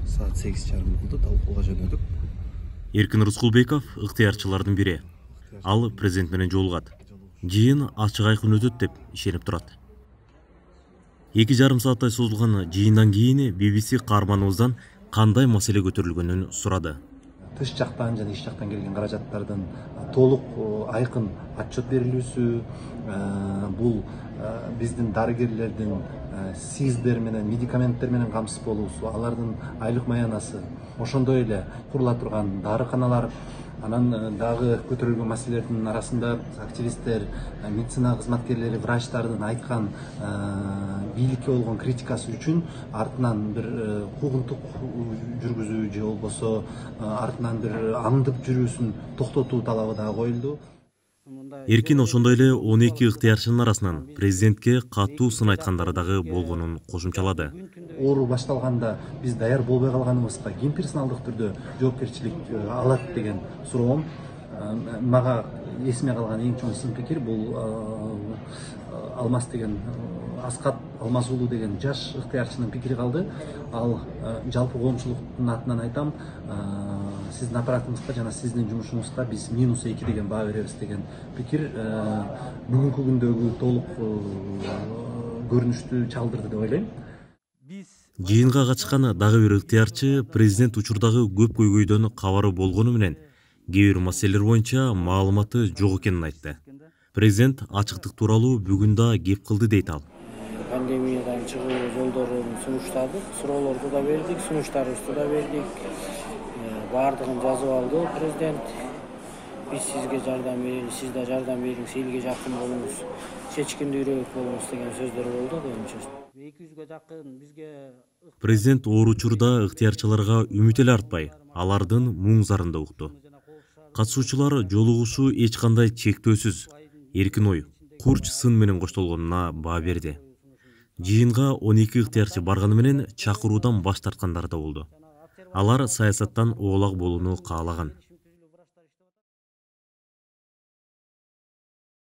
Saat 8:30 болду, талкууга жөнөдүк. Эркин Рыскулбеков ыктыярчылардын бири. Ал президент менен жолугат. Жыйын ачык айкын өтөт деп ишенип турат. 2,5 сааттай созулган жыйындан кийин BBC каарманыбыздан кандай маселе көтөрүлгөнүн сурады. Тыш жактан жана ич жактан келген каражаттардын толук айкын отчет берилүүсү, бул биздин дарыгерлердин СИЗдер менен, медикаменттер менен камсыз болуусу, алардын айлык маянасы, ошондой эле курула турган дарыканалар, анан дагы көтөрүлгөн маселелердин арасында активисттер, медицина кызматкерлери, врачтардын айткан бийликке болгон критикасы үчүн артынан бир куугунтук жүргүзүү же болбосо артынан бир аңдып жүрүүсүн токтотуу талабы дагы коюлду. Эркин ошондой эле 12 ыктыярчынын арасынан президентке катуу сын айткандары дагы болгонун кошумчалады. Оору башталганда биз даяр болбой калганыбызга ким персоналдык түрдө жоопкерчилик алат деген суроом мага эсиме калган эң чоң сын пикир бул Алмаз деген Аскат Алмаз уулу деген жаш ыктыярчынын пикири калды. Ал жалпы коомчулуктун атынан айтам, сиздин аппаратыңызга жана сиздин жумушуңузга биз -2 деген баа беребиз деген пикир бүгүнкү күндөгү толук көрүнүштү чалдырды деп ойлойм. Жыйынга катышкан дагы бир ыктыярчы президент учурдагы көп көйгөйдөн кабары болгону менен кээ бир маселелер боюнча маалыматы жок экенин айтты. Президент ачыктык тууралуу бүгүн да кеп кылды дейт ал. Пандемиядан чыгуу жолдорун сунуштадык, суроолорду да бердик, сунуштарыбызды да бердик. Баардыгын жазып алды президент. Биз сизге жардам беребиз, сиз да жардам бериңиз, элге жакын болуңуз, чечкиндүүрөөк болуңуз деген сөздөр болду көбүнчө. 200га жакын бизге Президент оор учурда ыктыярчыларга үмүт эле артпай, алардын муң зарын да укту. Катышуучулар жолугушуу эч кандай чектөөсүз, эркин ой, курч сын менен коштолгонуна баа берди. Жыйынга 12 ыктыярчы барганы менен чакыруудан баш тарткандар да болду. Алар саясаттан оолак болууну каалаган.